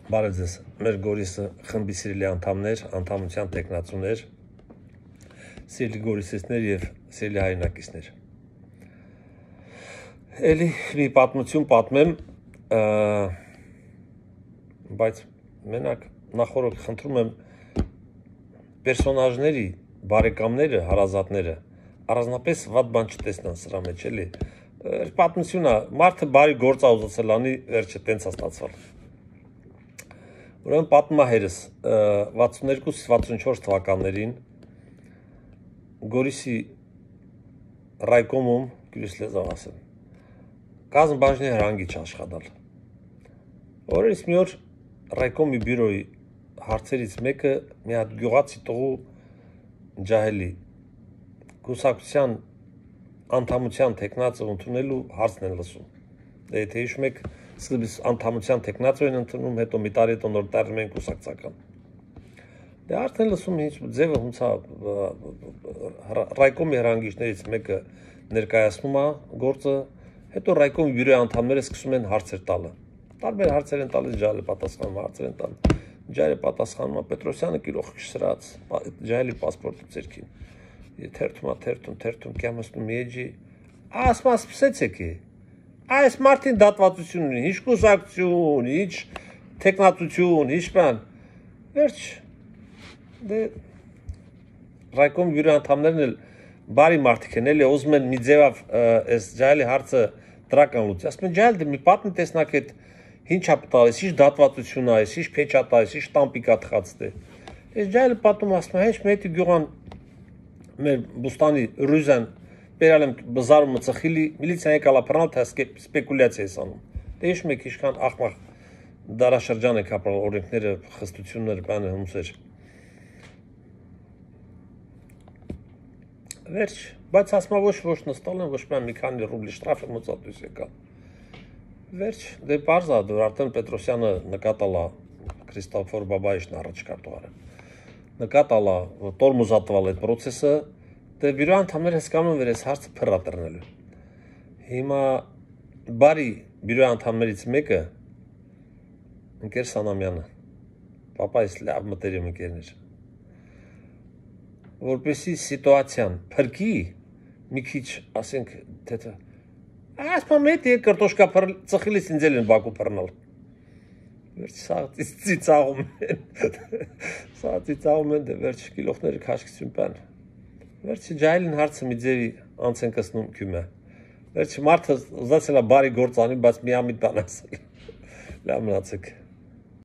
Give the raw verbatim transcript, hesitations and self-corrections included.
Բարև ձեզ, մեր Գորիսը խմբի սիրելի անդամներ, անդամության տեխնացուներ, սիրելի գորիսեցներ և սիրելի հայրենակիցներ։ Էլի մի պատմություն պատմեմ, բայց մենակ նախորդ խնդրում եմ պերսոնաժների, բարեկամները, հարազատները առանձնապես վատ բան չտեսնան սրա մեջ, էլի։ Պատմություն է, մարդը բարի գործ ա ուզեցել անի, վերջը տենց ա ստացվել։ Ուրեմն պատմում է հայրս վաթսունեքու վաթսունչորս թվականներին Գորիսի ռայկոմում, գյուս լեզավ ասեմ, կազմ բաժնի հրանգիչ աշխատալ։ Օրերից մի օր ռայկոմի բյուրոյի հարցերից մեկը մի հատ գյուղացի տղու ջահելի կուսակցության անդամության տեխնացը ընդունելու հարցն են լսում։ Դե եթե հիշում եք, սկզբից անդամության տեխնացը են ընդունում, հետո մի տարի հետո նոր դառնում են կուսակցական։ Դե արդեն լսում ինչ ձևը հունցա ռայկոմի հրանգիչներից մեկը ներկայացնում է գործը, հետո ռայկոմի բյուրոյի անդամները սկսում են հարցեր տալը։ Տարբեր հարցեր են տալիս, ջահելը պատասխանում, հարցեր են տալը։ Ջահելը պատասխանում է, Պետրոսյանը գիրող սրած, ջահելի պասպորտը ձերքին։ Թերթում է, թերթում, թերթում, կյամստում եջի, ասմա սպսեցեք է, այս մարդին դատվածություն ունի, ինչ կուսակցություն, ինչ տեխնացություն, ինչ բան, վերջ, դե, ռայկոմի բյուրոյի անդամներն էլ բարի մարդիկ են, էլի ուզում են մի ձևավ այս ջահելի հարցը դրական լուծի, ասում են ջահել դե մի պատմի տեսնակ այդ ինչ ա տալիս, ինչ դատվածություն ա, ինչ փեչ ա տալիս, ինչ տամպիկ ա թխած դե։ Այս ջահելը պատում ասում է, հենց մետի գյուղան մեր բուստանի ռուզան բերալ եմ բզարումը ծխիլի, միլիցիան եկալ ա բռնել, թե սպեկուլյացիա ես անում։ Դե հիշում եք ինչքան աղմաղ դարաշրջան եք ապրել, օրենքները, խստությունները, բանը հումսեր։ Վերջ, բայց ասում ոչ ոչ նստալ են, ոչ մի քանի ռուբլի շտրաֆ եմ մոծատույս եկա։ Վերջ, դե պարզ ա, դուր արդեն Պետրոսյանը նկատալ ա Քրիստոֆոր Բաբայիշն առաջ կարտուղարը։ Նկատալ ա տորմուզատվալ այդ պրոցեսը, դե բյուրոյի անդամները հասկանում են, որ այս հարցը փռ ա տրնելու։ Հիմա բարի բյուրոյի անդամներից մեկը ընկեր Սանամյանը, պապայիս լավ մտերիմ ընկերն էր, որպեսզի սիտուացիան փրկի, մի քիչ ասենք, թե ասում մետ է կարտոշկա ծխիլից ինձ էլ են Բաքու բռնել։ Վերջ սա ծիծաղում են, սա ծիծաղում են, դե վերջ գիլոխները քաշքություն բան։ Վերջ ջահելին հարցը մի ձևի անց են կսնում քյում է։ Վերջ մարդը ուզացել է բարի գործ անի, բայց միամիտ բան ասել։ Լավ մնացեք։